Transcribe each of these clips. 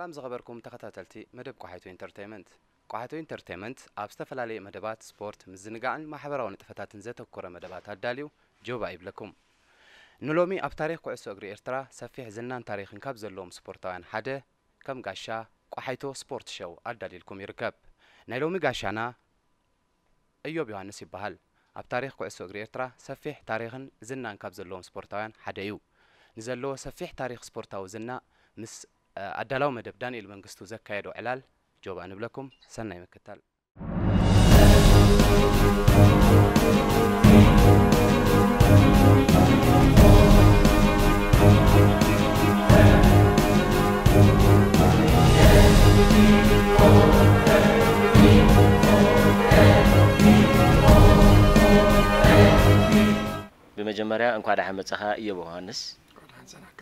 ሰላም ዝኸበርኩም ተኸታተልቲ መደብ ቆሓይቶ ኢንተርቴይመንት። ቆሓይቶ ኢንተርቴይመንት ኣብ ዝተፈላለየ መደባት ስፖርት፣ ምዝንጋዕን ማሕበራዊ ንጥፈታትን ዘተኮረ መደባት ኣዳልዩ ጆባ ይብለኩም። ንሎሚ ኣብ ታሪኽ ኩዕሶ እግሪ ኤርትራ ሰፊሕ ዝናን ታሪኽን ካብ ዘለዎም ስፖርታውያን ሓደ ከም ጋሻ ቆሓይቶ ስፖርት ሸው ኣዳልዩልኩም ይርከብ። ናይ ሎሚ ጋሻና እዮብ ዮሃንስ ይበሃል። ኣብ ታሪኽ ኩዕሶ እግሪ ኤርትራ ሰፊሕ ታሪኽን ዝናን ካብ ዘለዎም ስፖርታውያን ሓደ እዩ። ንዘለዎ ሰፊሕ ታሪኽ ስፖርታዊ ዝና ምስ ኣዳላዊ መደብ ዳንኤል መንግስቱ ዘካየዶ ዕላል ጆባ ንብለኩም። ሰናይ ምክታል። ብመጀመርያ እንኳዕ ደሓን መጻኻ እዮብ ዮሃንስ። ደሓን ሰናካ።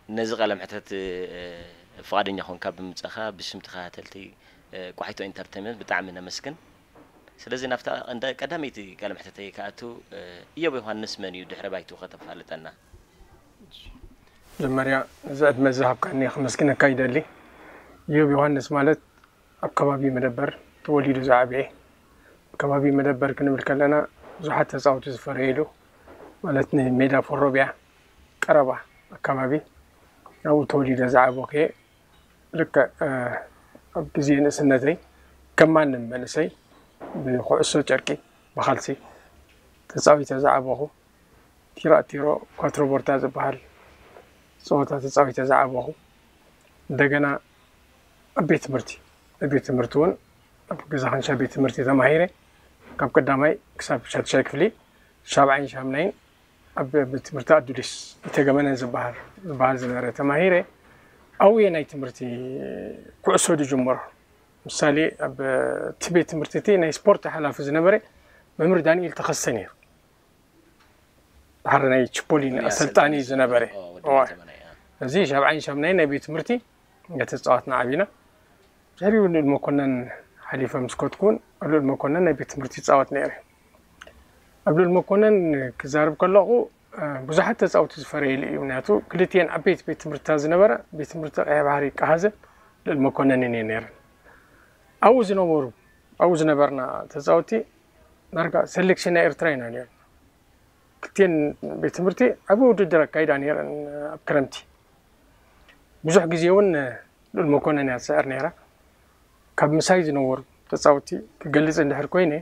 ነዚ ቃለ መሕተት ፍቓደኛ ኾንካ ብምምጻኻ ብሽም ተኸታተልቲ ቆሓይቶ ኢንተርቴይመንት ብጣዕሚ ነመስግን። ስለዚ ናብታ እንደ ቀዳመይቲ ቃለ መሕተተይ ክኣቱ፣ እዮብ ዮሃንስ መን እዩ? ድሕረ ባይትኡ ከተፋልጠና። መጀመርያ እዚ ዕድመ ዝሃብካኒ ከመስግነካ ይደሊ። እዮብ ዮሃንስ ማለት ኣብ ከባቢ መደበር ተወሊዱ ዝዓበየ። ኣብ ከባቢ መደበር ክንብል ከለና ብዙሓት ተጻወቲ ዝፈረየሉ፣ ማለት ንሜዳ ፎሮቢያ ቀረባ ኣካባቢ ናብኡ ተወሊደ ዝዓበኹ እየ። ልክዕ ኣብ ግዜ ንእስነተይ ከም ማንም መንእሰይ ብኩዕሶ ጨርቂ ብኻልሲ ተጻዊተ ዝዓበኹ፣ ቲራ ቲሮ ኳትሮ ቦርታ ዝበሃል ጸወታ ተጻዊተ ዝዓበኹ። እንደገና ኣብ ቤት ትምህርቲ ኣብ ቤት ትምህርቲ እውን ኣብ ገዛ ካንሻ ቤት ትምህርቲ ተማሂረ። ካብ ቀዳማይ ክሳብ ሻድሻይ ክፍሊ ሻብዓይን ሻምናይን ኣብ ቤት ትምህርቲ ኣዱሊስ ኢተገመነ ዝበሃል ዝበሃል ዝነበረ ተማሂረ። ኣብኡ እየ ናይ ትምህርቲ ኩዕሶ ዝጅመሮ። ምሳሌ ኣብ እቲ ቤት ትምህርቲ እቲ ናይ ስፖርት ሓላፊ ዝነበረ መምህር ዳንኤል ተኸስተ ነይሩ። ድሓር ናይ ችፖሊን ኣሰልጣኒ ዝነበረ። እዚ ሻብዓይን ሻምናይን ናይ ቤት ትምህርቲ እናተጻወትና ዓቢና። ድሕሪኡ ልኡል መኮነን ሓሊፈ ምስ ከድኩ እውን ኣብ ልኡል መኮነን ናይ ቤት ትምህርቲ ይጻወት ነይረ። ኣብ ልኡል መኮነን ክዛረብ ከለኹ ብዙሓት ተጻወቲ ዝፈረየሉ እዩ። ምክንያቱ ክልቲኤን ዓበይቲ ቤት ትምህርትታት ዝነበራ ቤት ትምህርቲ ቀይሕ ባሕሪ ቀሃዘ ልኡል መኮነንን እየን ነይረን። ኣብኡ ዝነበሩ ኣብኡ ዝነበርና ተጻወቲ ዳርጋ ሰሌክሽን ናይ ኤርትራ ኢና ነይርና። ክልቲኤን ቤት ትምህርቲ ዓቢ ውድድር ኣካይዳ ነይረን ኣብ ክረምቲ። ብዙሕ ግዜ እውን ልኡል መኮነን እያ ትስዕር ነይራ። ካብ ምሳይ ዝነበሩ ተጻወቲ ክገልጽ እንድሕር ኮይነ፣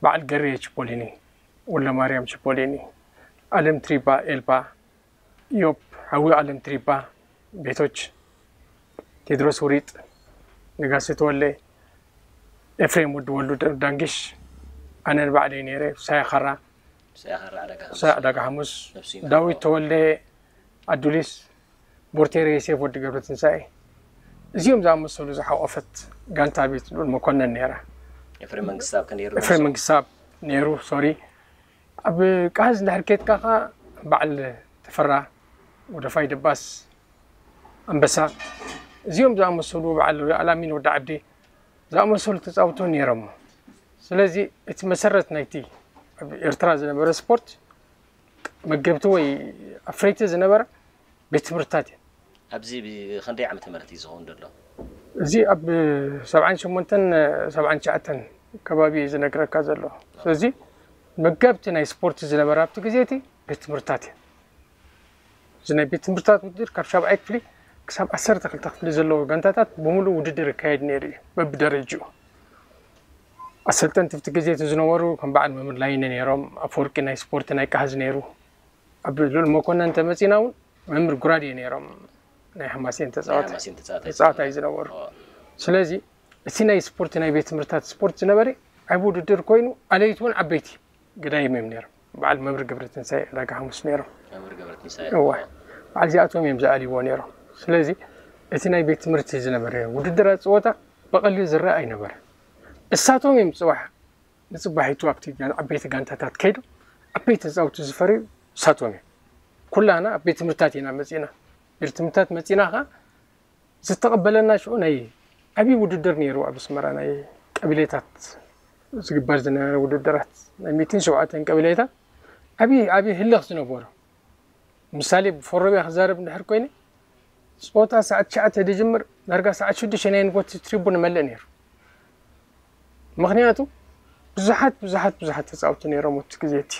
በዓል ገሬ ችፖሊኒ፣ ወልደማርያም ችፖሊኒ፣ ኣለም ትሪባ ኤልባ፣ ኢዮብ ሓዊ፣ ኣለም ትሪባ፣ ቤቶች፣ ቴድሮስ ውሪጥ፣ ነጋሲ ተወለ፣ ኤፍሬም ወዲ ወሉ ዳንጊሽ፣ ኣነ ንባዕለይ ነይረ፣ ሳያ ኻራ፣ ሳያ ዕዳጋ ሓሙስ፣ ዳዊት ተወልደ፣ ኣዱሊስ፣ ቦርቴሬ ዮሴፍ ወዲ ገብረትንሳኤ፣ እዚኦም ዝኣመሰሉ ዝሓቖፈት ጋንታ ቤት ልኡል መኮነን ነይራ። ኤፍሬም መንግስተኣብ ከ ነይሩ? ኤፍሬም መንግስተኣብ ነይሩ፣ ሶሪ። ኣብ ቃዝ እንድሕር ኬድካ ኸዓ በዓል ተፈራ፣ ወደፋይ ደባስ፣ ኣንበሳ፣ እዚኦም ዝኣመሰሉ በዓል ኣላሚን ወዲ ዓዲ ዝኣመሰሉ ተጻውቶ ነይሮም። ስለዚ እቲ መሰረት ናይቲ ኣብ ኤርትራ ዝነበረ ስፖርት መገብቲ ወይ ኣፍረይቲ ዝነበረ ቤት ትምህርትታት እየን። ኣብዚ ብ-፣ ክንደይ ዓመተ ምህረት እዩ ዝኸውን ዘሎ? እዚ ኣብ ሰብዓን ሸሞንተን፣ ሰብዓን ትሽዓተን ከባቢ እዩ ዝነግረካ ዘሎ። ስለዚ መገብቲ ናይ ስፖርት ዝነበረ ኣብቲ ግዜ እቲ ቤት ትምህርትታት እየን። እዚ ናይ ቤት ትምህርትታት ውድድር ካብ ሻብዓይ ክፍሊ ክሳብ ዓሰርተ ክልተ ክፍሊ ዘለዎ ጋንታታት ብምሉእ ውድድር ይካየድ ነይሩ እዩ፣ በብደረጅኡ። ኣሰልጠንቲ ኣብቲ ግዜ እቲ ዝነበሩ ከም በዓል መምህር ላይነ ነይሮም፣ ኣፈወርቂ ናይ ስፖርት ናይ ቃህዝ ነይሩ። ኣብ ልኡል መኮነን እንተመጺና እውን መምህር ጉራዴ ነይሮም፣ ናይ ሓማሴን ተጻዋታይ፣ ሓማሴን ተጻዋታይ ተጻዋታይ ዝነበሩ። ኦ። ስለዚ እቲ ናይ ስፖርት ናይ ቤት ትምህርትታት ስፖርት ዝነበረ ዓቢ ውድድር ኮይኑ፣ ኣለይቲ እውን ዓበይቲ ገዳይም እዮም ነይሮም። በዓል መምህር ገብረትንሳኤ ዕዳጋ ሓሙስ ነይሮም። መምህር ገብረትንሳኤ። እወ። በዓል እዚኣቶም እዮም ዝኣልይዎ ነይሮም። ስለዚ እቲ ናይ ቤት ትምህርቲ ዝነበረ ውድድራት ጸወታ ብቐሊሉ ዝረኣ ኣይነበረ። እሳቶም እዮም ጽባሕ ንጽባሒቱ ኣብቲ ጋን-፣ ዓበይቲ ጋንታታት ከይዱ ዓበይቲ ተጻወቲ ዝፈርዩ እሳቶም እዮም። ኩላና ኣብ ቤት ትምህርትታት ኢና መጺእና። ቤት ትምህርትታት መጺእና ኸኣ ዝተቐበለና ሽዑ ናይ ዓብዪ ውድድር ነይሩ ኣብ ኣስመራ፣ ናይ ቀቢሌታት ዝግበር ዝነበረ ውድድራት፣ ናይ ሚእትን ሸውዓተን ቀቢሌታት ዓብዪ፣ ዓብዪ ህልኽ ዝነበሮ። ምሳሌ ብፎሮቢያ ክዛረብ እንድሕር ኮይነ፣ ጸወታ ሰዓት ትሽዓተ ዝጅምር ዳርጋ ሰዓት ሽዱሽተ ናይ ንጎት ትሪቡን ይመልእ ነይሩ። ምኽንያቱ ብዙሓት ብዙሓት ብዙሓት ተጻወትቲ ነይሮም ኣብቲ ግዜ እቲ።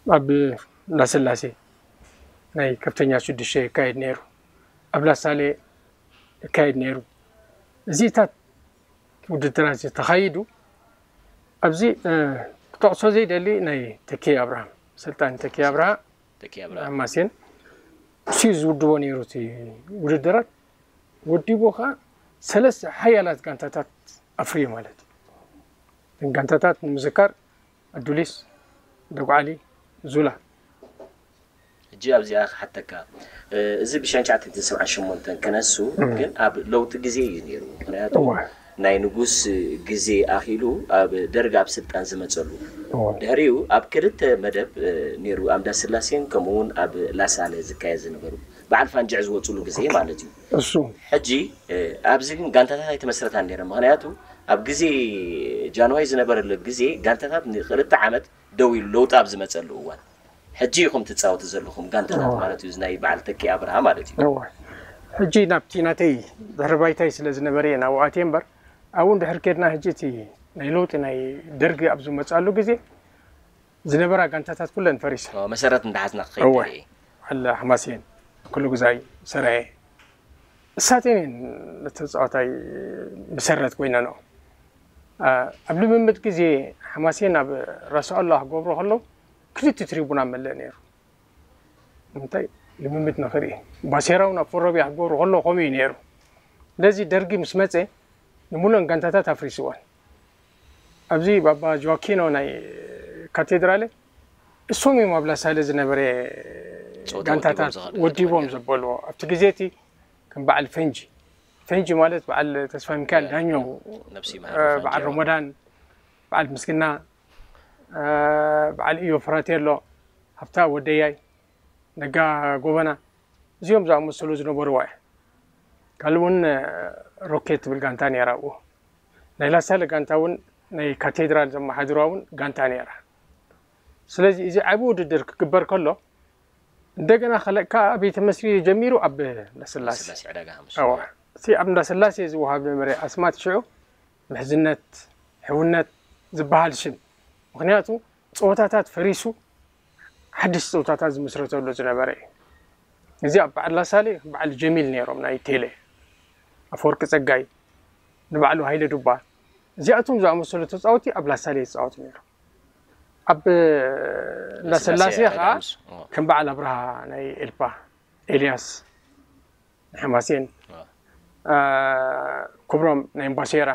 ኣብ እንዳስላሴ ናይ ከፍተኛ ሽዱሽተ ይካየድ ነይሩ፣ ኣብ ላሳሌ ይካየድ ነይሩ። እዚታት ውድድራት ተኻይዱ። ኣብዚ ክጠቕሶ ዘይደሊ ናይ ተኪ ኣብርሃም፣ ሰልጣን ተኪ ኣብርሃ፣ ተኪ ኣብርሃ ማሴን እሱ እዩ ዝውድቦ ነይሩ እቲ ውድድራት። ወዲቡ ከዓ ሰለስተ ሓያላት ጋንታታት ኣፍርዩ ማለት እዩ። እተን ጋንታታት ንምዝካር ኣዱሊስ፣ ደጉዓሊ፣ ዙላ። ሕጂ ኣብዚኣ ክሓተካ፣ እዚ ብሽሕን ትሽዓተ ሚእትን ሰብዓን ሸሞንተን ክነሱ ግን ኣብ ለውጢ ግዜ እዩ ነይሩ። ምክንያቱ ናይ ንጉስ ግዜ ኣኺሉ ኣብ ደርግ ኣብ ስልጣን ዝመፀሉ፣ ድሕሪኡ ኣብ ክልተ መደብ ነይሩ፣ ኣብ እንዳስላሴን ከምኡ እውን ኣብ ላሳለ ዝካየድ ዝነበሩ በዓል ፋንጅዕ ዝወፅሉ ግዜ ማለት እዩ። እሱ ሕጂ ኣብዚ ግን ጋንታታት ኣይተመስረታን ነይረን። ምክንያቱ ኣብ ግዜ ጃንሆይ ዝነበረሉ ግዜ ጋንታታት ንክልተ ዓመት ደው ኢሉ ለውጢ ኣብ ዝመፀሉ እዋን ሕጂ ኢኹም ትፃወቱ ዘለኹም ጋንታታት ማለት እዩ። ናይ በዓል ተኪ ኣብርሃ ማለት እዩ። ሕጂ ናብቲ ናተይ ድሕሪ ባይታይ ስለ ዝነበረ እየ ናብኡ ኣትየ እምበር፣ ኣብኡ እንድሕር ኬድና ሕጂ እቲ ናይ ለውጢ ናይ ደርጊ ኣብ ዝመፅኣሉ ግዜ ዝነበራ ጋንታታት ኩለን ፈሪሰን። መሰረት እንዳሓዝና ክኸይድ እወ። በዓል ሓማሴን፣ ኩሉ ግዛይ፣ ሰራየ፣ እሳተን እየን ነቲ ተፃዋታይ መሰረት ኮይነንኦ። ኣብ ልምምድ ግዜ ሓማሴን ኣብ ራስ ኣሉላ ክገብሩ ከለዉ ክልተ ትሪቡን ኣብ መለእ ነይሩ። ንምንታይ? ልምምድ ንኽርኢ። ባሴራ እውን ኣብ ፎሮቢያ ክገብሩ ከለዉ ከምኡ እዩ ነይሩ። ስለዚ ደርጊ ምስ መፀ ንሙሉአን ጋንታታት ኣፍሪስወን። ኣብዚ ባባ ጆዋኪኖ ናይ ካቴድራለ እሶም እዮም ኣብ ላሳለ ዝነበረ ጋንታታት ወዲቦም ዘበልዎ። ኣብቲ ግዜ እቲ ከም በዓል ፈንጂ፣ ፈንጂ ማለት በዓል ተስፋ ሚካኤል ዳኘው፣ በዓል ሮሞዳን፣ በዓል ምስግና፣ በዓል እዮ ፍራቴሎ፣ ሃብታ ወደያይ፣ ነጋ ጎበና፣ እዚኦም ዝኣመሰሉ ዝነበርዋ እያ። ካልእ እውን ሮኬት ትብል ጋንታ ነይራ ኣብኡ። ናይ ላሳለ ጋንታ እውን ናይ ካቴድራል ዘመሓድርዋ እውን ጋንታ ነይራ። ስለዚ እዚ ዓቢ ውድድር ክግበር ከሎ እንደገና ከለእ ከዓ ኣበይ ተመስሪቱ ጀሚሩ? ኣብ እንዳስላሴ። እዋ፣ እቲ ኣብ እንዳስላሴ ዝወሃብ ዝነበረ ኣስማት ሽዑ ምሕዝነት፣ ሕውነት ዝበሃል ሽም። ምኽንያቱ ፀወታታት ፈሪሱ ሓድሽ ፀወታታት ዝምስረተሉ ዝነበረ እዩ። እዚ ኣብ በዓል ላሳሌ በዓል ጀሚል ነይሮም ናይ ቴሌ፣ ኣፈወርቂ ፀጋይ፣ ንባዕሉ ሃይለ ዱባ፣ እዚኣቶም ዝኣመሰሉ ተፃወቲ ኣብ ላሳሌ ይፃወቱ ነይሮም። ኣብ እንዳስላሴ ከዓ ከም በዓል ኣብርሃ ናይ ኤልፓ፣ ኤልያስ ናይ ሓማሴን፣ ክብሮም ናይ እምባሴራ፣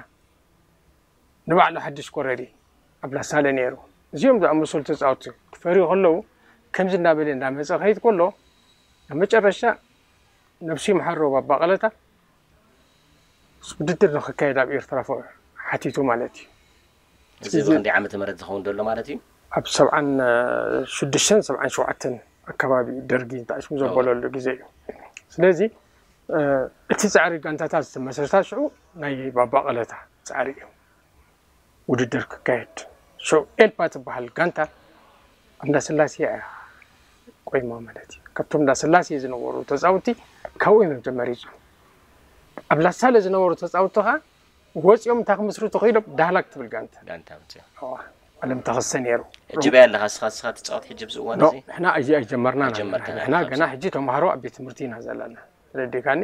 ንባዕሉ ሓድሽ ኮረሪ ኣብ ላሳለ ነይሩ። እዚኦም ዝኣመሰሉ ተፃወቲ ክፈርዩ ከለዉ ከምዚ እናበለ እንዳመፀ ከይድ ከሎ ኣብ መጨረሻ ነብሱ ይምሓሮ ባባ ቀለታ ውድድር ንክካየድ ኣብ ኤርትራ ሓቲቱ ማለት እዩ። እዚ ብክንደይ ዓመተ ምህረት ዝኸውን ዘሎ ማለት እዩ? ኣብ ሰብዓን ሽዱሽተን ሰብዓን ሸውዓተን ኣካባቢ ደርጊ ተኣሽሙ ዘበለሉ ግዜ እዩ። ስለዚ እቲ ፃዕሪ ጋንታታት ዝተመስረታ ሽዑ ናይ ባባ ቀለታ ፃዕሪ እዩ። ውድድር ክካየድ ሽዑ ኤልፓ ትበሃል ጋንታ ኣብ እንዳስላሴ እያ ቆይማ ማለት እዩ። ካብቶም እንዳስላሴ ዝነበሩ ተፃውቲ ካብኡ እዮም ተመሪፁ። ኣብ ላሳለ ዝነበሩ ተፃውቲ ከዓ ወፂኦም እንታይ ክምስርቱ ክኢሎም ዳህላክ ትብል ጋንታ ጋንታ ምፅእ። ኣለም ተኸሰ ነይሩ። ሕጂ በይ ኣለኻ እስኻ እስኻ ትፃወት ሕጂ ኣብዚ እዋን ዶ እዚ? ንሕና እዚ ኣይጀመርናን ኣይጀመርካን ኣለና። ንሕና ኢኻ ገና ሕጂ ተምሃሮ ኣብ ቤት ትምህርቲ ኢና ዘለና። ተረዲእካኒ?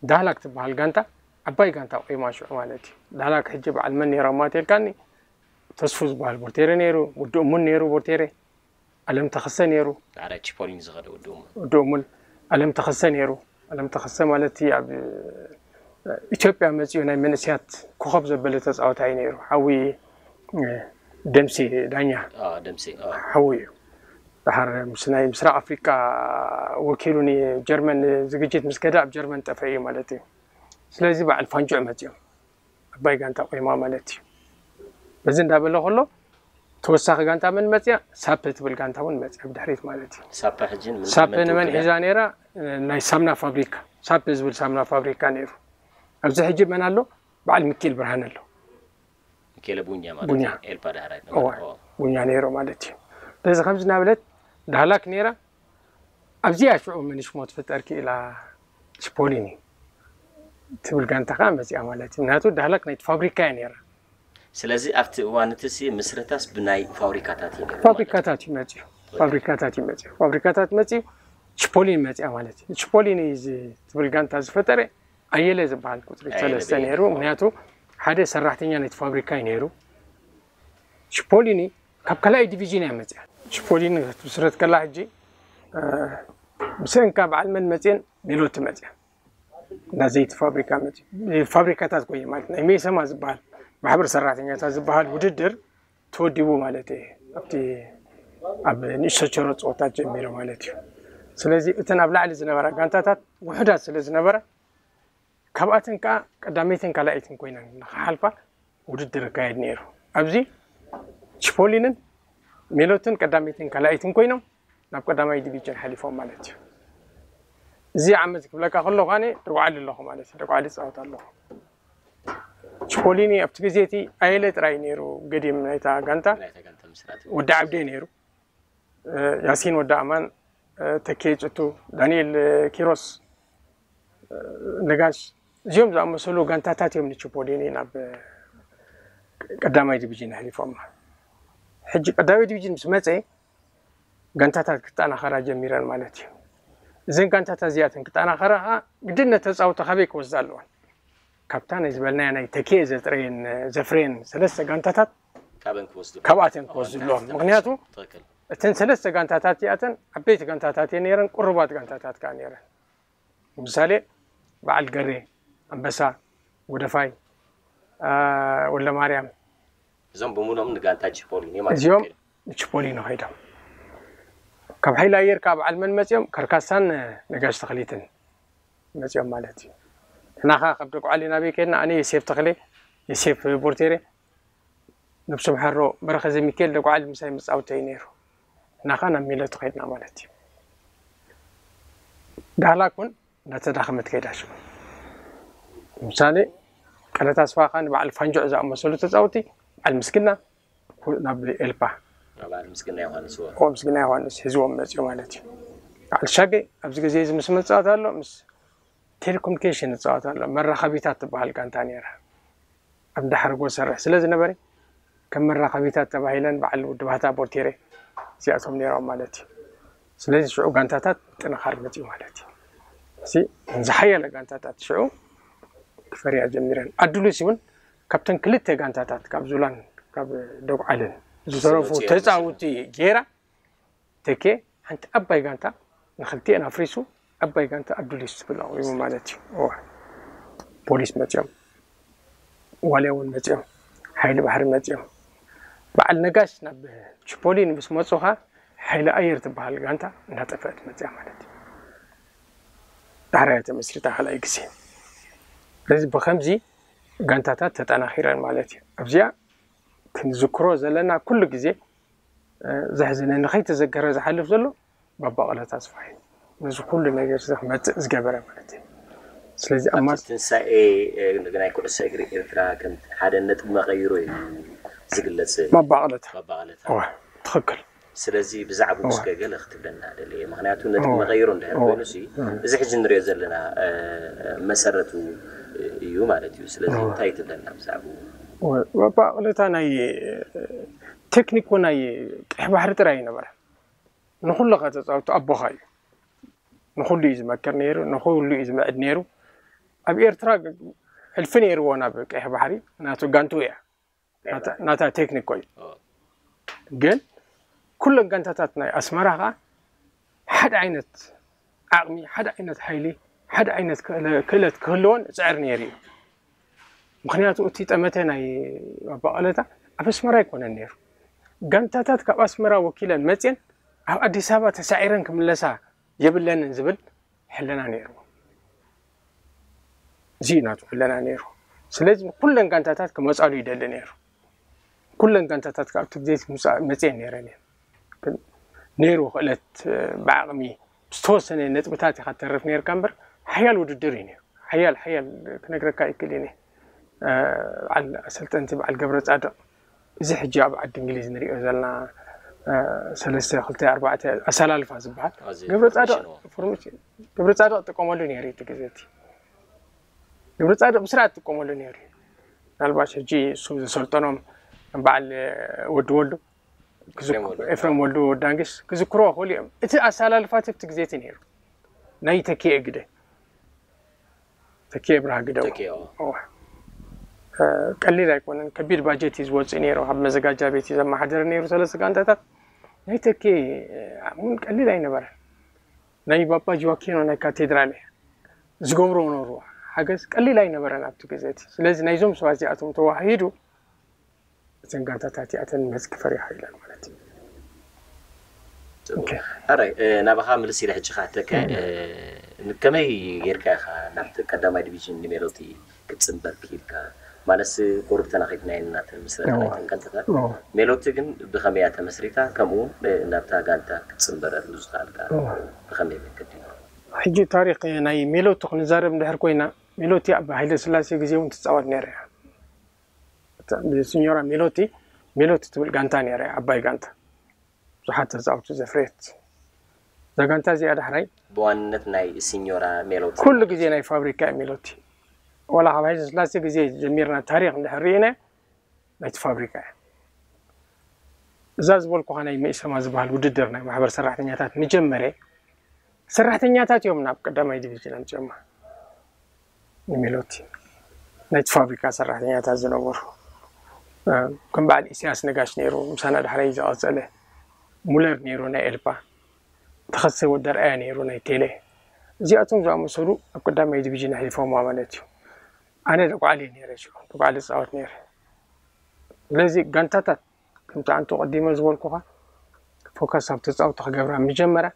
ዳህላክ ትበሃል ጋንታ ዓባይ ጋንታ ቆይማ ሽዑ ማለት እዩ። ዳህላክ ሕጂ በዓል መን ነይሮማ ተልካኒ? ተስፉ ዝበሃል ቦርቴሬ ነይሩ፣ ውዲ እሙን ነይሩ ቦርቴሬ፣ ኣለም ተኸሰ ነይሩ። ዳሕራይ ቺፖሊኒ ዝኸደ ውዲ እሙን። ውዲ እሙን፣ ኣለም ተኸሰ ነይሩ። ኣለም ተኸሰ ማለት እቲ ኣብ ኢትዮጵያ መፂኡ ናይ መንእስያት ኮኸብ ዘበለ ተፃዋታይ ነይሩ። ሓዊ ደምሴ ዳኛ ኣዎ፣ ደምሴ፣ ኣዎ። ሓዊ እዩ። ድሓር ምስ ናይ ምስራቅ ኣፍሪቃ ወኪሉ ንጀርመን ዝግጅት ምስ ከደ ኣብ ጀርመን ጠፈ እዩ ማለት እዩ። ስለዚ በዓል ፋንጆዕ መፂኦም ዓባይ ጋንታ ቆይማ ማለት እዩ። በዚ እንዳበለ ከሎ ተወሳኺ ጋንታ መን መፅያ? ሳፐ ትብል ጋንታ እውን መፅያ ብድሕሪት ማለት እዩ። ሳፓ ሕጂ ን- ሳፐ ንመን ሒዛ ነይራ? ናይ ሳምና ፋብሪካ፣ ሳፐ ዝብል ሳምና ፋብሪካ ነይሩ። ኣብዚ ሕጂ መን ኣሎ? በዓል ሚኪኤል ብርሃን ኣሎ። ሚኬለ ቡኛ ማለት ቡኛ። እዩ። ኤልፓ ዳሕራይ እዋ፣ ቡኛ ነይሩ ማለት እዩ። ስለዚ ከምዚ እናበለት ዳህላክ ነይራ። ኣብዚኣ ሽዑ መን ሽሞ ትፍጠር ክኢላ? ችፖሊኒ ትብል ጋንታ ከዓ መፅኣ ማለት እዩ። ምክንያቱ ዳህላክ ናይ ፋብሪካ እያ ነይራ። ስለዚ ኣብቲ እዋን እቲ ሲ ምስረታስ ብናይ ፋብሪካታት እዩ ነይሩ ማለት እዩ። ፋብሪካታት እዩ መፅኡ። ፋብሪካታት እዩ መፅኡ። ፋብሪካታት መፅኡ ችፖሊኒ መፅኣ ማለት እዩ። ችፖሊኒ እዚ ትብል ጋንታ ዝፈጠረ ኣየለ ዝበሃል ቁፅሪ ኣየለ ሰለስተ በየነ። ነይሩ። ምክንያቱ ሓደ ሰራሕተኛ ናይቲ ፋብሪካ እዩ ነይሩ። ችፖሊኒ ካብ ካልኣይ ዲቪዥን እያ መፅያ። ችፖሊኒ ክትምስረት ከላ ሕጂ እ፣ ብሰንካ በዓል መን መፅየን ሜሎቲ መፅያ። እንዳ ዘይቲ ፋብሪካ መፅዩ። ፋብሪካታት ኮይኑ ማለት ናይ ሜሰማ ዝበሃል ማሕበር ሰራሕተኛታት ዝበሃል ውድድር ተወዲቡ ማለት እዩ። ኣብቲ ኣብ ንእሽቶ ቸሮ ፀወታት ጀሚሩ ማለት እዩ። ስለዚ እተን ኣብ ላዕሊ ዝነበራ ጋንታታት ውሑዳት ስለ ዝነበራ ካብኣተን ከዓ ቀዳመይትን ካልኣይትን ኮይነን ንክሓልፋ ውድድር ይካየድ ነይሩ። ኣብዚ ችፖሊንን ሜሎትን ቀዳመይትን ካልኣይትን ኮይኖም ናብ ቀዳማይ ዲቪዥን ሓሊፎም ማለት እዩ። እዚ ዓመት ክብለካ ከለኹ ኣነ ደጉዓሊ ኣለኹ ማለት እዩ። ደጉዓሊ ይፃወት ኣለኹ። ችፖሊኒ ኣብቲ ግዜ እቲ ኣየለ ጥራይ ነይሩ ገዲም ናይታ ጋንታ። ናይታ ጋንታ ምስራት ወዲ ዓብዴ ነይሩ፣ እ፣ ያሲን ወዲ ኣማን፣ እ፣ ተኬ ጭቱ፣ ዳንኤል፣ እ፣ ኪሮስ፣ እ፣ ነጋሽ፣ እዚኦም ዝኣመሰሉ ጋንታታት እዮም ንችፖሊኒ ናብ፣ እ፣ ቀዳማይ ዲቪዥን ኣሕሊፎማ። ሕጂ ቀዳማይ ዲቪዥን ምስ መፀ ጋንታታት ክጠናኸራ ጀሚረን ማለት እዩ። እዘን ጋንታታት እዚኣተን ክጠናኸራ ከዓ ግድነት ተፃውቲ ካበይ ክወስዳ ኣለወን? ካብታ ናይ ዝበልናያ ናይ ተኬ ዘጥረየን ዘፍረየን ሰለስተ ጋንታታት ካበን ክወስዱ ካብኣተን ክወስዱ ኣለዎም። ምክንያቱ ትክክል። እተን ሰለስተ ጋንታታት እዚኣተን ዓበይቲ ጋንታታት እየን ነይረን፣ ቁሩባት ጋንታታት ከዓ ነይረን። ንምሳሌ በዓል ገሬ፣ ኣንበሳ፣ ወደፋይ፣ አ፣ ወልደማርያም፣ እዞም ብምሎም ንጋንታ ችፖሊኒ ማለት እዚኦም ይከኣል። ንችፖሊኒ ከይዶም። ካብ ሓይሊ ኣየር ከዓ በዓል መን መፅኦም? ከርካሳን ነጋሽ ተኽሊትን መፅኦም ማለት እዩ። ንሕና ከዓ ካብ ደጉዓሊ ናበይ ከድና? ኣነ የሴፍ ተኽሌ፣ የሴፍ ቦርቴሬ፣ ነብሱ ምሓሮ በረኸ ዘሚካኤል ደጉዓሊ ምሳይ መፃወቲ እዩ ነይሩ። ንሕና ከዓ ናብ ሜሎቲ ከድና ማለት እዩ። ዳህላክ እውን እንዳተዳኸመት ከይዳ ሽዑ። ንምሳሌ ቀለታ ስፋኻ ንበዓል ፋንጆዕ ዝኣመሰሉ ተፃወቲ በዓል ምስግና ናብ ኤልፓ በዓል ምስግና ዮሃንስ ወ ኦ ምስግና ዮሃንስ ሒዝዎም መፅኡ ማለት እዩ። በዓል ሻገ ኣብዚ ግዜ እዚ ምስ መፃወት ኣሎ ምስ ቴሌኮሙኒኬሽን ይፃወት ኣሎ። መራኸቢታት ትበሃል ጋንታ ነይራ። ኣብ ዳሕሪ ጎ ሰርሕ ስለ ዝነበረ ከም መራኸቢታት ተባሂለን በዓል ውድባታ ቦርቴሬ እዚኣቶም ነይሮም ማለት እዩ። ስለዚ ሽዑ ጋንታታት ጥንኻር መፅኡ ማለት እዩ። እዚ ዝሓየለ ጋንታታት ሽዑ ክፈርያ ጀሚረን። ኣዱሊስ እውን ካብተን ክልተ ጋንታታት ካብ ዙላን ካብ ደጉዓልን ዝተረፉ ዝመፅኡ እዮም። ተፃውቲ ገይራ ተኬ ሓንቲ ዓባይ ጋንታ ንክልቲኤን ኣፍሪሱ ዓባይ ጋንታ ኣዱሊስ ዝብል ኣቑሙ ማለት እዩ። እዋ ፖሊስ መፅኦም፣ ዋልያ እውን መፅኦም፣ ሓይሊ ባሕሪ መፅኦም። በዓል ነጋሽ ናብ ችፖሊን ምስ መፁኻ ሓይሊ ኣየር ትበሃል ጋንታ እናጠፈአት መፅያ ማለት እዩ። ዳሕራያ ተመስሪታ ካልኣይ ግዜ። ስለዚ ብከምዚ ጋንታታት ተጠናኺረን ማለት እዩ። ኣብዚኣ ክንዝክሮ ዘለና ኩሉ ግዜ እ፣ ዘሕዝነኒ ከይተዘከረ ዝሓልፍ ዘሎ ባባ ቀለታ ስፋይ ነዚ ኩሉ ነገር እዚ ክመፅእ ዝገበረ ማለት እዩ። ስለዚ ኣብ ኣብቲ ማስ ትንሳኤ እ፣ ናይ ኩዕሶ እግሪ ኤርትራ ከም ሓደ ነጥቢ መቐይሮ እዩ ዝግለጽ። ባባ ቀለታ ባባ ቀለታ እዋ ትኽክል ስለዚ ብዛዕባኡ እዋ እስከ ገለ ክትብለና ደልየ፣ ምክንያቱ ነጥቢ እዋ መቐይሮ እንድሕር እዋ ኮይኑ ሲ እዚ ሕጂ ንሪኦ ዘለና እ፣ መሰረቱ እዩ ማለት እዩ። ስለዚ እዋ እንታይ ትብለና ብዛዕባኡ? እዋ ባባ ቀለታ ናይ ቴክኒክ ናይ ቀይሕ ባሕሪ ጥራይ ይነበረ ንኩሉ ከተፃውቱ ኣቦኻ እዩ። ንኩሉ እዩ ዝመክር ነይሩ፣ ንኩሉ እዩ ዝምዕድ ነይሩ። ኣብ ኤርትራ ሕልፊ ነይርዎ ናብ ቀይሕ ባሕሪ፣ ናቱ ጋንቱ እያ ናታ- ናታ ቴክኒክ ኮይኑ። ግን ኩለን ጋንታታት ናይ ኣስመራ ከዓ ሓደ ዓይነት ዓቕሚ፣ ሓደ ዓይነት ሓይሊ፣ ሓደ ዓይነት ክእለ- ክእለት ክህልወን ዝፅዕር ነይሩ እዩ። ምክንያቱ እቲ ጠመተ ናይ ባባ ቀለታ ኣብ ኣስመራ ኣይኮነን ነይሩ። ጋንታታት ካብ ኣስመራ ወኪለን መፅየን ኣብ ኣዲስ ኣበባ ተሳዒረን ክምለሳ የብለንን ዝብል ሕልና ነይርዎ። እዚ እዩ ናቱ ሕልና ነይሩ። ስለዚ ኩለን ጋንታታት ክመፃሉ ይደሊ ነይሩ። ኩለን ጋንታታት ካብ እቲ ግዜ መፅየን ነይረን እየን። ግን ነይሩ ክእለት ብዓቕሚ ዝተወሰነ ነጥብታት ኢኻ ትተርፍ ነይርካ እምበር ሓያል ውድድር እዩ ነይሩ። ሓያል ሓያል ክነግረካ ይክእል እየ። በዓል ኣሰልጠንቲ በዓል ገብረ ፃድቕ እዚ ሕጂ ኣብ ዓዲ እንግሊዝ ንሪኦ ዘለና ሰለስተ ክልተ ኣርባዕተ ኣሰላልፋ ዝበሃል ገብረ ፃድቕ ገብረ ፃድቕ ጥቀመሉ ነይሩ እቲ ግዜ እቲ ገብረ ፃድቕ ብስርዓት ጥቀመሉ ነይሩ። ምናልባሽ ሕጂ እሱ ዝሰልጠኖም በዓል ወዲ ወልዱ ኤፍረም ወልዱ ወዳንግስ ክዝክሮ ክኽእሉ እዮም። እቲ ኣሰላልፋት ኣብቲ ግዜ እቲ ነይሩ ናይ ተኪኤ ግደ ተኪኤ ብርሃ ግደ ቀሊል ኣይኮነን። ከቢድ ባጀት እዩ ዝወፅእ ነይሩ። ኣብ መዘጋጃ ቤት እዩ ዘመሓደር ነይሩ ሰለስተ ጋንታታት። ናይ ተኪኤ እውን ቀሊል ኣይነበረን። ናይ ባባ ጆዋኪኖ ናይ ካቴድራል ዝገብሮ ነበሩ ሓገዝ ቀሊል ኣይነበረን ኣብቲ ግዜ እቲ። ስለዚ ናይዞም ሰባት እዚኣቶም ተዋሂዱ እተን ጋንታታት እዚኣተን ምህዝ ክፈርያ ኢለን ማለት እዩ። ሕራይ ናባኻ ምልስ ኢለ ሕጂ ክኣተካ ከመይ ጌርካ ኢኻ ናብቲ ቀዳማይ ዲቪዥን ንሜሎቲ ክትፅንበር ክኢልካ? ማለትስ ቁሩብ ተናኺፍናየን ናተን ምስረታ ናይተን ጋንታታት። ሜሎቲ ግን ብኸመይ እያ ተመስሪታ? ከምኡ እውን ናብታ ጋንታ ክትፅንበረሉ ዝኸኣልካ ብኸመይ መንገዲ እዩ? ሕጂ ታሪክ ናይ ሜሎቲ ክንዛረብ እንድሕር ኮይና ሜሎቲ ኣብ ሃይለ ስላሴ ግዜ እውን ትፃወት ነይራ እያ። ብሲኞራ ሜሎቲ ሜሎቲ ትብል ጋንታ ነይራ እያ፣ ዓባይ ጋንታ ብዙሓት ተፃወትቲ ዘፍረየት እዛ ጋንታ እዚኣ ዳሕራይ ብዋንነት ናይ ሲኞራ ሜሎቲ ኩሉ ግዜ ናይ ፋብሪካ እያ ሜሎቲ። ዋላ ካብ ሃይለ ስላሴ ግዜ ጀሚርና ታሪክ እንድሕር ርኢና ናይቲ ፋብሪካ እያ። እዛ ዝበልኩኻ ናይ መኢሰማ ዝበሃል ውድድር ናይ ማሕበር ሰራሕተኛታት ንጀመረ ሰራሕተኛታት እዮም ናብ ቀዳማይ ዲቪዥን ኣምፅኦማ ንሜሎቲ ናይቲ ፋብሪካ ሰራሕተኛታት ዝነበሩ ከም በዓል ኢሳያስ ነጋሽ ነይሩ ምሳና ዳሕራይ ዝቐፀለ ሙለር ነይሩ ናይ ኤልፓ ተኸሰ ወደርኣያ ነይሩ ናይ ቴሌ እዚኣቶም ዝኣመሰሉ ኣብ ቀዳማይ ዲቪዥን ኣሕሊፎማ ማለት እዩ ኣነ ደጓዕሊ ነይረ ሽዑ ደጓዕሊ ዝፃወት ነይረ ስለዚ ጋንታታት ከምቲ ኣንቱ ቀዲመ ዝበልኩኻ ፎከስ ኣብ ተፃወቲ ክገብራ ምጀመራ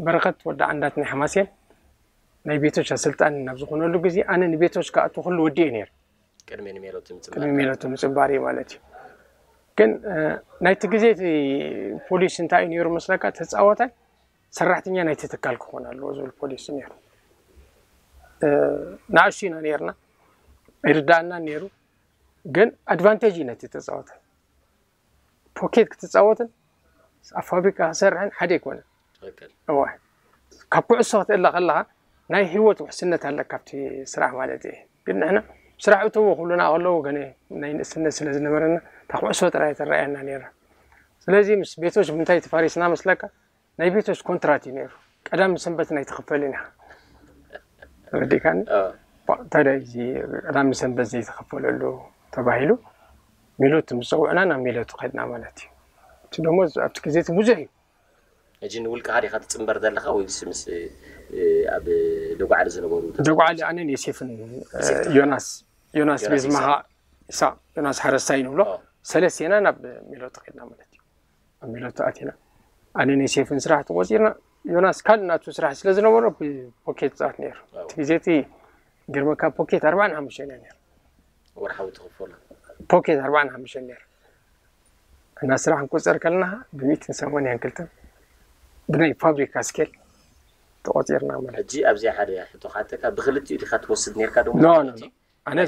በረኸት ወዲ ዓንዳት ናይ ሓማሴን ናይ ቤቶች ኣሰልጣኒ ናብ ዝኾነሉ ግዜ ኣነ ንቤቶች ክኣቱ ኩሉ ወዲኤ ነይረ ቅድሚ ንሜሎቲ ቅድሚ ምፅባር ሜሎቲ ምፅባር እዩ ማለት እዩ ግን ናይቲ ግዜ እቲ ፖሊሲ እንታይ እዩ ነይሩ መስለካ ተፃወታይ ሰራሕተኛ ናይቲ ትካል ክኾን ኣለዎ ዝብል ፖሊሲ ነይሩ ንኣሽቱ ኢና ነይርና ኣይርዳእና ነይሩ ግን ኣድቫንቴጅ እዩ ነቲ ተፃወታይ ፖኬት ክትፃወትን ኣብ ፋብሪካ ክሰርሕን ሓደ ኣይኮነን እዋ ካብ ኩዕሶ ክትእለ ከለካ ናይ ህይወት ውሕስነት ኣለካ ኣብቲ ስራሕ ማለት እዩ ግን ንሕና ስራሕ እተዎ ኩሉና ከለዉ ገነ ናይ ንእስነት ስለ ዝነበረና እታ ኩዕሶ ጥራይ ትረኣየና ነይራ ስለዚ ምስ ቤቶች ብምንታይ ተፋሪስና መስለካ ናይ ቤቶች ኮንትራት እዩ ነይሩ ቀዳም ሰንበት ናይ ትኽፈልን ኢኻ ተረዲእካኒ ታዲያ እዚ ቀዳም ሰንበት ዘይተኸፈለሉ ተባሂሉ ሜሎት ምስ ፀውዕና ናብ ሜሎት ከድና ማለት እዩ እቲ ደሞ ኣብቲ ግዜ እቲ ብዙሕ እዩ ሕጂ ንውልቅኻ ዲኻ ትፅንበር ዘለኻ ወይስ ምስ ኣብ ደጓዕሊ ዝነበሩ ደጓዕሊ ኣነን ዮሴፍን ዮናስ ዮናስ ቤዝማኻ ኢሳቅ ዮናስ ሓረስታይ ንብሎ ሰለስቴና ናብ ሜሎት ከድና ማለት እዩ ኣብ ሜሎት ኣቲና ኣነን ዮሴፍን ስራሕ ተቆፂርና ዮናስ ካልእ ናቱ ስራሕ ስለ ዝነበሮ ብፖኬት ፃት ነይሩ እቲ ግዜ እቲ ገርመካ ፖኬት ኣርባዓን ሓሙሽተን እያ ነይሩ ወርሓዊ ትኽፈሎ ፖኬት ኣርባዓን ሓሙሽተን ነይሩ እና ስራሕ ንቆፀር ከለና ብሚእትን ሰማንያን ክልተን ብናይ ፋብሪካ ስኬል ተቆፂርና ማለት ሕጂ ኣብዚኣ ሓደ ሕቶ ካተካ ብክልቲኡ ዲካ ትወስድ ነርካ ዶ ኖ ኖ ኣነ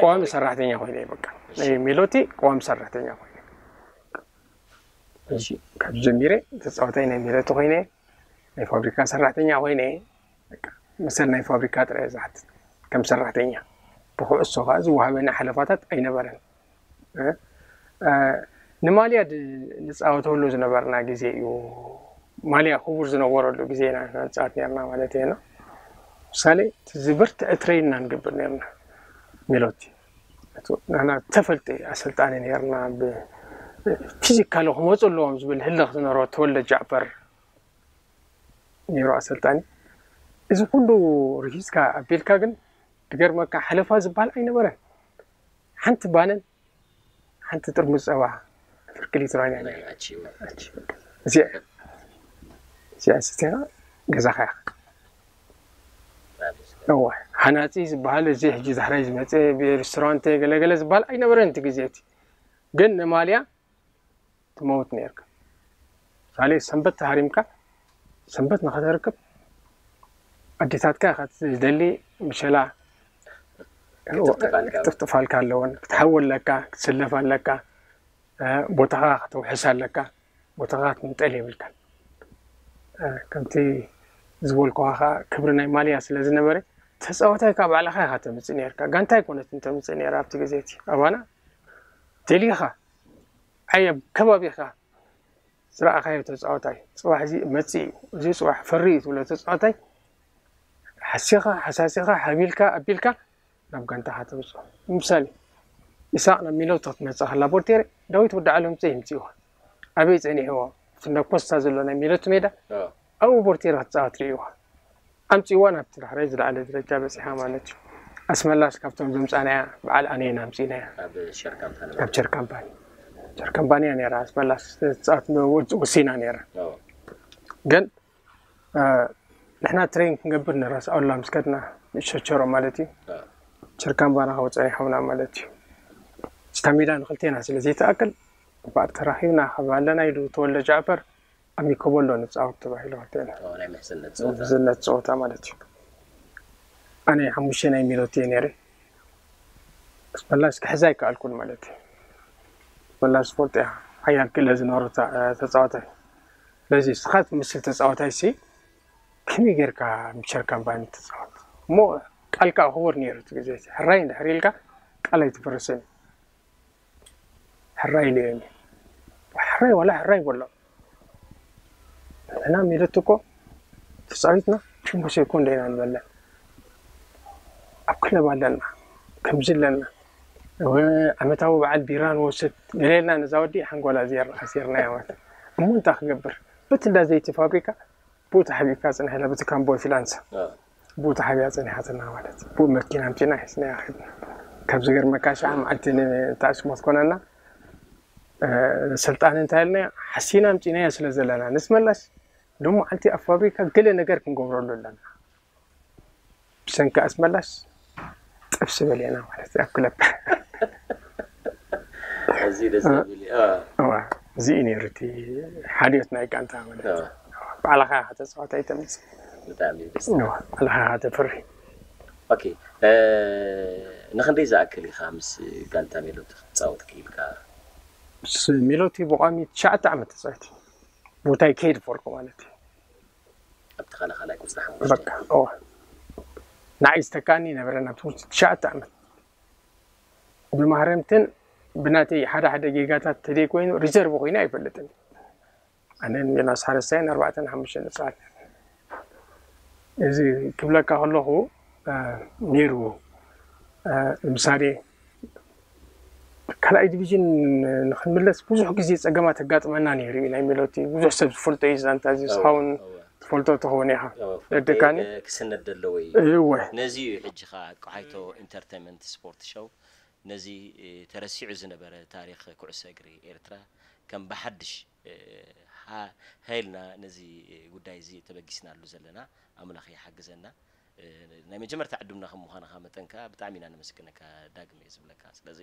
ቀዋሚ ሰራሕተኛ ኮይነ በቃ ናይ ሜሎቲ ቀዋሚ ሰራሕተኛ ኮይነ ካብ ጀሚረ ተፃወታይ ናይ ሜሎቲ ኮይነ ናይ ፋብሪካ ሰራሕተኛ ኮይነ መሰል ናይ ፋብሪካ ጥራይ ዝሓትት ከም ሰራሕተኛ ብኩዕሶ ከዓ ዝወሃበኒ ሓለፋታት ኣይነበረን ንማልያ ንፃወተሉ ዝነበርና ግዜ እዩ ማልያ ክቡር ዝነበረሉ ግዜ ኢና ንፃወት ነርና ማለት እዩ ምሳሌ ዝበርትዐ ትሬን ኢና ንገብር ነርና ሜሎቲ ንሕና ተፈልጢ ኣሰልጣኒ ነርና ፊዚካሊ ክመፁ ኣለዎም ዝብል ህልኽ ዝነበሮ ተወልደ ጃዕፈር ነይሩ ኣሰልጣኒ እዚ ኩሉ ርሂዝካ ኣቢልካ ግን ዝገርመካ ሓለፋ ዝበሃል ኣይነበረን ሓንቲ ባነን ሓንቲ ጥርሙዝ ፀባ ፍርቂ ሊትሮ እያ እዚኣ ስትኻ ገዛኻ እዋ ሃናፂ ዝበሃል እዚ ሕጂ ዛሕራይ ዝመፀ ብሬስቶራንት ገለገለ ዝበሃል ኣይነበረን እቲ ግዜ እቲ ግን ንማልያ ትመውት ነርካ ሳሌ ሰንበት ተሃሪምካ ሰንበት ንኸተርክብ ኣዴታትካ ኢኻ ዝደሊ ምሸላ ክትጥፍጥፋልካ ኣለወን ክትሓዊ ኣለካ ክትስለፍ ኣለካ ቦታኻ ከተውሕስ ኣለካ። ቦታኻ ክትንጠል የብልካን። ከምቲ ዝበልኩኻ ከዓ ክብሪ ናይ ማልያ ስለ ዝነበረ፣ ተፃዋታይ ከዓ ባዕልኻ ኢኻ ተምፅእ ነርካ። ጋንታ ኣይኮነትን ተምፅእ ነራ ኣብቲ ግዜ እቲ። ኣባና ደሊኻ ዓይ ኣብ ከባቢኻ ዝረኣኻዮ ተፃዋታይ፣ ፅባሕ እዚ መፅእ እዩ፣ እዚ ፅባሕ ፈሪ እዩ ትብሎ ተፃዋታይ ሓሲኻ ሓሳሲኻ ሓቢልካ ኣቢልካ ናብ ጋንታኻ ተምፅኦ። ንምሳሌ፣ ኢሳቅ ናብ ሚሎቲ ክትመፅእ ከላ ቦርቴሬ፣ ዳዊት ወዲ ዓለም ዘይ ይምፅእዋ። ኣበይ ፀኒሕዎ? እቲ እንዳ ኮስታ ዘሎ ናይ ሚሎቲ ሜዳ ኣብኡ ቦርቴሬ ክትፃወት ርእይዋ። ኣምፅእዋ ናብቲ ዳሕራይ ዝለዓለ ደረጃ በፂሓ ማለት እዩ። ኣስመላሽ ካብቶም ዘምፃናያ በዓል ኣነና ኣምፂናያ። ካብ ሸር ካምፓኒ። ሸር ካምፓኒያ ነራ ኣስመላሽ ትፃወት ወሲና ነራ። ግን ንሕና ትሬን ክንገብር ንረስኣላ ምስ ከድና ንሸቸሮ ማለት እዩ። ቸርካምባና ከውፀ ይሓውና ማለት እዩ። ስታ ሜዳ ንክልቴና ስለ ዘይተኣክል፣ ባር ተራኺብና ካብ ኣለና ኢሉ ተወልደ ጃዕፈር ኣብ ሚኮቦሎ ንፃወት ተባሂሉ ክልቴና ናይ ምሕዝነት ምሕዝነት ፀወታ ማለት እዩ። ኣነ ሓሙሽተ ናይ ሚሎት እየ ነይረ። ኣስመላሽ ክሕዛ ኣይከኣልኩን ማለት እዩ። ኣስመላሽ ስፖርት እያ ሓያል ክእለ ዝነበሮ ተፃዋታይ። ስለዚ ንስኻ ትመስል ተፃዋታይ ሲ ከመይ ጌርካ ምቸር ካምፓኒ ትፃወት እሞ ቃልካ ክቡር ነይሩ እቲ ግዜ። ሕራይ እንድሕር ኢልካ ቃል ኣይትፍርስን። ሕራይ ኢሉ እየ። ሕራይ ዋላ ሕራይ በሎ። ንሕና ሚለት እኮ ተፃዊትና ሽንጎ ሴኮንዶ ኢና ንበልዕ። ኣብ ክለብ ኣለና፣ ከምዚ ኣለና፣ ዓመታዊ በዓል ቢራ ንወስድ ገሌልና ነዛ ወዲ ሓንጎላ ኣሲርናያ ማለት። እሞ እንታይ ክገብር? በቲ እንዳ ዘይቲ ፋብሪካ ብኡ ተሓቢእካ ፅንሕ ኢላ በቲ ካምቦ ፊላንሳ ብኡ ተሓቢኣ ፀኒሓትና ማለት ብኡ መኪና ኣምፂና ሒዝናያ ከድና። ካብ ዝገርመካ ሸዓ መዓልቲ ንታእስሞት ኮነና። ስልጣን እንታይ ኢልና ሓሲና ኣምፂናዮ ስለ ዘለና ንስመላስ ሎም መዓልቲ ኣብ ፋብሪካ ገለ ነገር ክንገብረሉ ኣለና። ብሰንኪ ኣስመላስ ጥብሲ በሊዕና ማለት እዩ ኣብ ክለብ። እዚ ደስ ዝብል እዩ። እዋ፣ እዚ እዩ ነይሩ እቲ ሓልዮት ናይ ጋንታ ማለት እዩ። ባዕልኻ ኢኻ ተፃዋታይ ተምፅእ። ብጣዕሚ ደስ እዋ፣ ባዕልኻ ኢኻ ተፍሪ። ኦኬ፣ ንክንደይ ዝኣክል ኢኻ ምስ ጋንታ ሜሎቲ ክትፃወት ክኢልካ? ምስ ሜሎቲ ብቋሚ ትሽዓተ ዓመት ተፃዊት ቦታይ ከይድ ፎርክ ማለት እዩ። ኣብቲ ካልእ ካልኣይ ቁፅሪ ሓሙሽተ በቃ እዋ፣ ንዓይ ዝተካኒ ነበረ ናብ ትምህርቲ ትሽዓተ ዓመት ብማህረምትን ብናተይ ሓደ ሓደ ጌጋታት ተደይ ኮይኑ ሪዘርቭ ኮይኑ ኣይፈልጥን። ኣነ ዮናስ ሓረስታይን ኣርባዕተን ሓሙሽተን ንፃወት። እዚ ክብለካ ከለኹ ነይሩ። ንምሳሌ ካልኣይ ዲቪዥን ንክንምለስ ብዙሕ ግዜ ፀገማት ኣጋጥመና ነይሩ እዩ። ናይ ሜሎቲ ብዙሕ ሰብ ዝፈልጦ እዩ ዛንታ እዚ እስኻውን ትፈልጦ ትኸውን ኢኻ። ደድካኒ ክስነድ ዘለዎ እዩ። እወ። ነዚ እዩ ሕጂ ኸዓ ቆሓይቶ ኢንተርቴንመንት ስፖርት ሾው ነዚ ተረሲዑ ዝነበረ ታሪኽ ኩዕሶ እግሪ ኤርትራ ከም ብሓድሽ ሃይልና ነዚ ጉዳይ እዚ ተበጊስናሉ ዘለና ኣምላኽ ይሓግዘና። ናይ መጀመርታ ዕዱምና ከም ምዃንኻ መጠን ከኣ ብጣዕሚ ኢና ነመስግነካ ዳግም እየ ዝብለካ። ስለዚ